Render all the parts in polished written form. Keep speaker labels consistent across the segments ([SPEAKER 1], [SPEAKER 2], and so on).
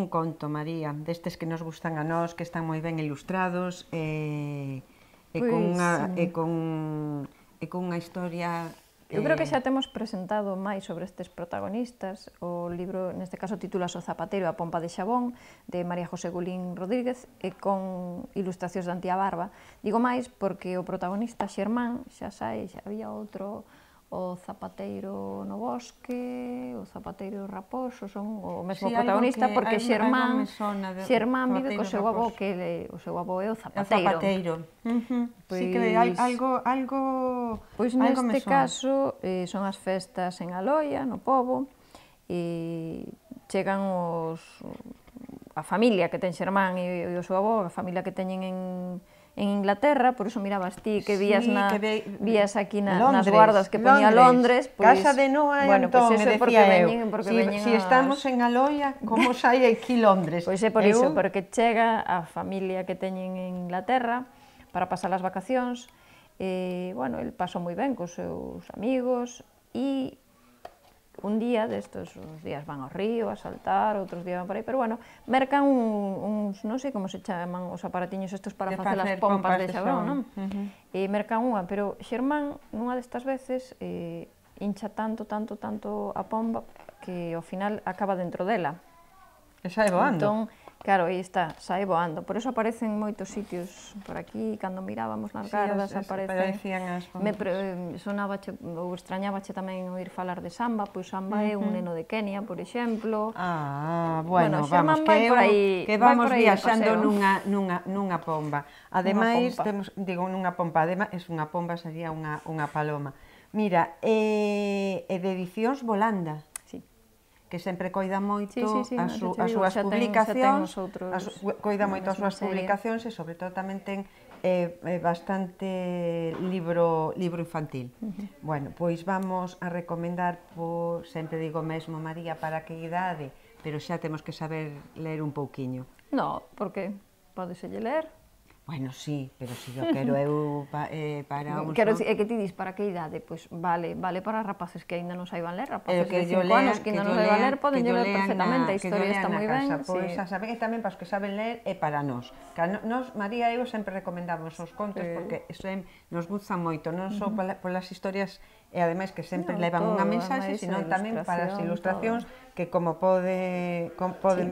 [SPEAKER 1] un conto, María, destes que nos gustan a nós, que están moi ben ilustrados e cunha historia...
[SPEAKER 2] Eu creo que xa temos presentado máis sobre estes protagonistas. O libro, neste caso, titúlase O zapateiro e a pompa de xabón, de María José Gulín Rodríguez, e con ilustracións de Antía Barba. Digo máis porque o protagonista Xermán, xa sai, xa había outro, o zapateiro no bosque, o zapateiro raposo, son o mesmo protagonista, porque Xermán vive co seu avó, que o seu avó é o zapateiro.
[SPEAKER 1] Sí que algo...
[SPEAKER 2] Pois neste caso son as festas en Aloia, no pobo, e chegan a familia que ten Xermán e o seu avó, a familia que teñen en Inglaterra, por iso mirabas ti que vías aquí nas guardas que ponía Londres.
[SPEAKER 1] Casa de Noa e Antón, me decía eu. Si estamos en Aloia, como sai aquí Londres?
[SPEAKER 2] Pois é por iso, porque chega a familia que teñen en Inglaterra para pasar as vacacións. Bueno, el pasou moi ben cos seus amigos e un día destos, uns días van ao río a saltar, outros días van por aí, pero bueno, mercan uns, non sei como se chaman os aparatiños estos para facer as pompas de xabón, non? E mercan unha, pero Xermán, nunha destas veces, hincha tanto a pomba que ao final acaba dentro dela.
[SPEAKER 1] E sae voando.
[SPEAKER 2] Entón, claro, aí está, sae voando. Por eso aparecen moitos sitios por aquí, cando mirábamos nas gardas, aparecen... Sonabache, ou extrañabache tamén oír falar de Samba, pois Samba é un neno de Kenia, por exemplo.
[SPEAKER 1] Bueno, vamos, que vamos viaxando nunha pomba. Ademais, digo, nunha pomba, ademais, unha pomba sería unha paloma. Mira, é de Edicións Volanda, que sempre coida moito as súas publicacións, coida moito as súas publicacións e, sobre todo, tamén ten bastante libro infantil. Bueno, pois vamos a recomendar, sempre digo mesmo, María, para que idade, pero xa temos que saber ler un pouquiño.
[SPEAKER 2] No, porque podeselle ler.
[SPEAKER 1] Bueno, sí, pero se yo quero eu para uns...
[SPEAKER 2] Quero dicir, é que ti dis para que idade? Pois vale para rapaces que ainda non saiban ler, rapaces de 5 anos que ainda non saiban ler, poden ler perfectamente, a historia está moi ben.
[SPEAKER 1] Pois a saber, e tamén para os que saben ler é para nós. Nós, María e eu, sempre recomendamos os contos porque nos gustan moito, non só polas historias e ademais que sempre levan unha mensaxe, sino tamén para as ilustracións que, como poden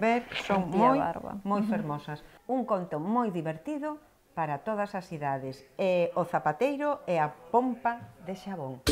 [SPEAKER 1] ver, son moi fermosas. Un conto moi divertido para todas as idades. O zapateiro e a pompa de xabón.